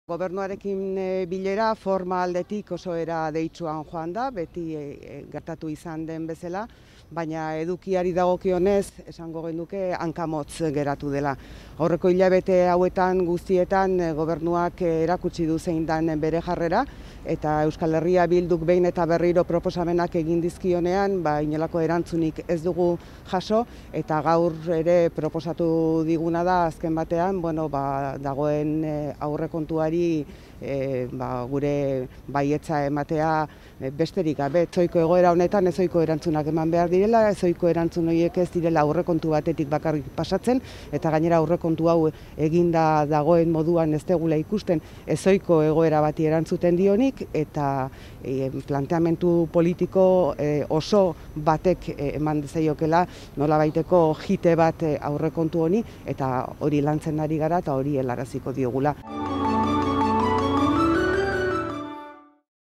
Gobernuarekin bilera forma aldetik oso era deitsuan joan da, beti gertatu izan den bezala, baina edukiari dagokionez esango genuke hankamotz geratu dela. Aurreko hilabete hauetan guztietan gobernuak erakutsi du zein dan bere jarrera, eta Euskal Herria Bilduk behin eta berriro proposamenak egin dizkionean, inolako erantzunik ez dugu jaso, eta gaur ere proposatu diguna da azken batean, dagoen aurrekontuari gure baietza ematea besterik gabe. Ezohiko egoera honetan ezohiko erantzunak eman behar direla, ezohiko erantzun horiek ez direla aurrekontu batetik bakarrik pasatzen, eta gainera aurrekontu hau eginda dagoen moduan ez degula ikusten ezohiko egoera bati erantzuten dionik, eta planteamendu politiko oso batek eman dezaiokela nolabaiteko jite bat aurrekontu honi, eta hori lantzen ari gara eta hori helaraziko diogula.